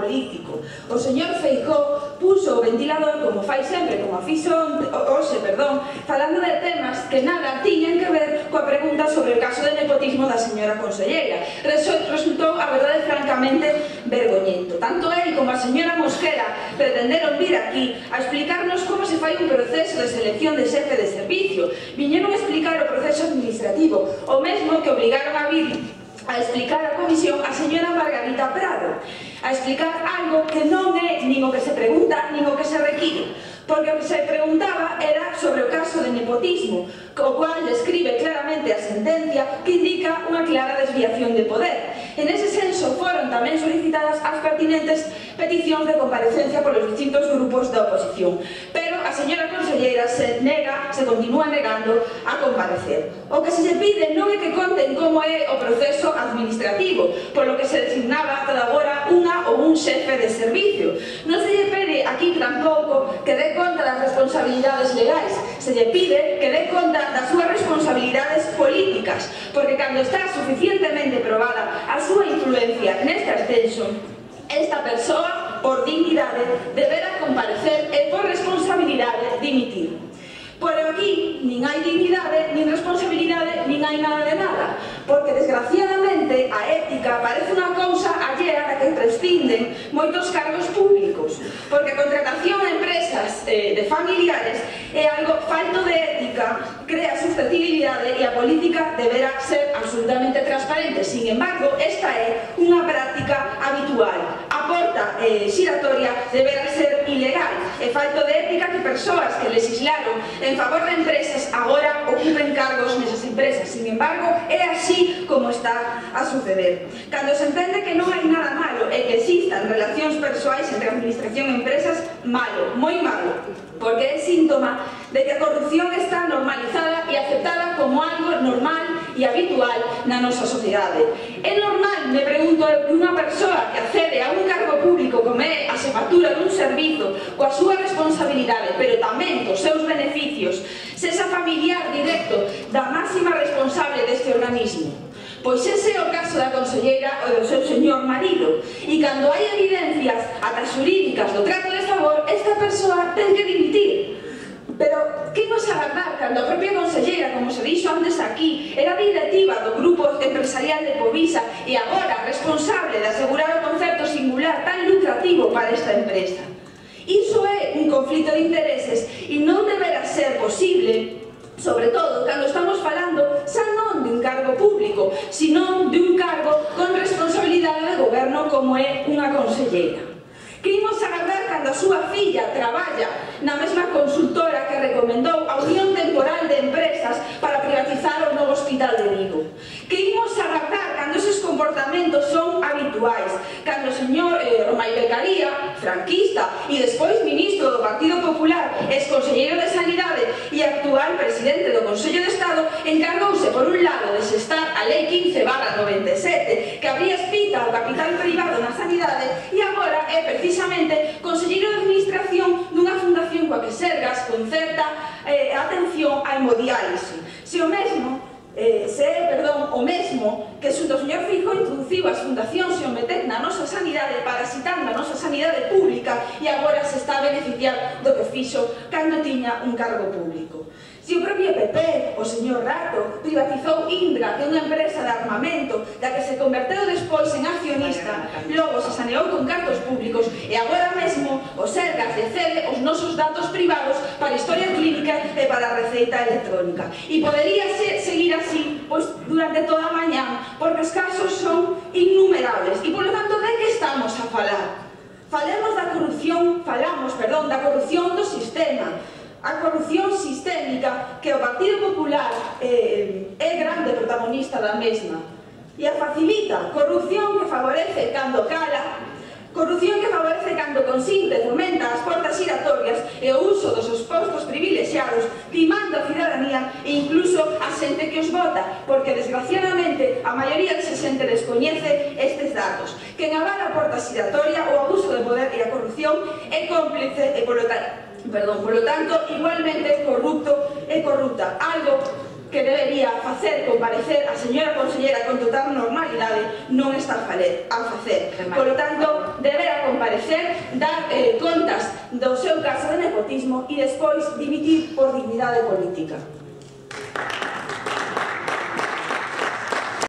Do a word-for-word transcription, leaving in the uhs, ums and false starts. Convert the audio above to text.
político. O señor Feijóo puso o ventilador, como fai sempre, como a fixo hoxe, perdón, falando de temas que nada tiñan que ver coa pregunta sobre o caso de nepotismo da señora conselleira. Resultou, a verdade, francamente vergoñento. Tanto ele como a señora Mosquera pretenderon vir aquí a explicarnos como se fai un proceso de selección de xefe de servicio. Viñeron a explicar o proceso administrativo, o mesmo que obrigaron a vir a explicar a comisión a señora Margarita Prado, a explicar algo que non é nin o que se pregunta, nin o que se require, porque o que se preguntaba era sobre o caso de nepotismo, co cual describe claramente a sentencia que indica unha clara desviación de poder. En ese senso foron tamén solicitadas as pertinentes peticións de comparecencia polos distintos grupos da oposición, pero a señora conselleira se nega, se continúa negando a comparecer. O que se lle pide non é que conten como é o proceso administrativo, polo que se designaba ata agora unha ou un xefe de servicio. Non se lle pide aquí tampouco que dé conta das responsabilidades legais, se lle pide que dé conta das súas responsabilidades políticas, porque cando está suficientemente probada a súa influencia neste ascenso, esta persoa, por dignidade, deberá comparecer e por responsabilidade dimitir. Pero aquí nin hai dignidade, nin responsabilidade, nin hai nada de nada, porque desgraciadamente a ética parece unha cousa allea da que prescinden moitos cargos públicos, porque a contratación a empresas eh, de familiares é algo falto de ética, crea susceptibilidade e a política deberá ser absolutamente transparente. Sin embargo, esta é unha práctica habitual. A porta eh, xiratoria deberá ser ilegal. É falto de ética que persoas que legislaron en favor de empresas agora ocupen cargos nesas empresas. Sin embargo, é así como está a suceder. Cando se entende que non hai nada malo e que existan relacións persoais entre administración e empresas, malo, moi malo, porque é síntoma de que a corrupción está normalizada e aceptada como algo normal e habitual na nosa sociedade. É normal, me pregunto, que unha persoa que accede a un cargo público como é a xefatura dun servizo coa súa responsabilidade, pero tamén cos seus beneficios, sexa familiar directo da máxima responsable deste organismo? Pois ese é o caso da conselleira ou do seu señor marido, e cando hai evidencias ata xurídicas do trato de favor, esta persoa ten que dimitir. Pero, que imos agardar cando a propia conselleira, como se dixo antes aquí, era directiva do grupo empresarial de Povisa e agora responsable de asegurar o concepto singular tan lucrativo para esta empresa? Iso é un conflito de intereses e non deberá ser posible, sobre todo cando estamos falando xa non de un cargo público, sino de un cargo con responsabilidade de goberno como é unha conselleira. Que imos agardar cando a súa filla traballa na mesma consultora que recomendou a Unión Temporal de Empresas para privatizar o novo hospital de Vigo? Que imos agardar cando eses comportamentos son habituais, cando o señor eh, Romai Becaría, franquista e despois ministro do Partido Popular, ex-conselleiro de Sanidade e actual presidente do Consello de Estado, encargouse por un lado de xestar a Lei quince barra noventa e sete que abría espita ao capital privado na sanidade e agora é precisamente conselleiro de administración dunha fundación coa que Sergas concerta eh, atención á hemodiálise. Se o mesmo Eh, se é, perdón, o mesmo que xunto o señor Feijóo introduciu as fundacións e o meter na nosa sanidade, parasitando a nosa sanidade pública, e agora se está a beneficiar do que fixo cando tiña un cargo público. Se o propio P P, o señor Rato, privatizou Indra, que é unha empresa de armamento da que se converteu despois en accionista, logo se saneou con cartos públicos e agora mesmo o Sergas lle cede os nosos datos privados para a historia clínica e para a receita electrónica. E podería ser, seguir así pois, durante toda a mañá, porque os casos son innumerables. E, polo tanto, de que estamos a falar? Falemos da corrupción, falamos, perdón, da corrupción do sistema, a corrupción sistémica que o Partido Popular eh, é grande protagonista da mesma e a facilita. Corrupción que favorece cando cala, corrupción que favorece cando consinte, fomenta as portas xiratorias e o uso dos seus postos privilexiados, timando a cidadanía e incluso a xente que os vota, porque desgraciadamente a maioría desa xente descoñece estes datos. Quen avala a porta xiratoria, o abuso de poder e a corrupción é cómplice e polo tanto Perdón, polo tanto, igualmente corrupto e corrupta, algo que debería facer comparecer a señora consellera con total normalidade non está a facer. Polo tanto, debera comparecer, dar eh, contas do seu caso de nepotismo e despois dimitir por dignidade política.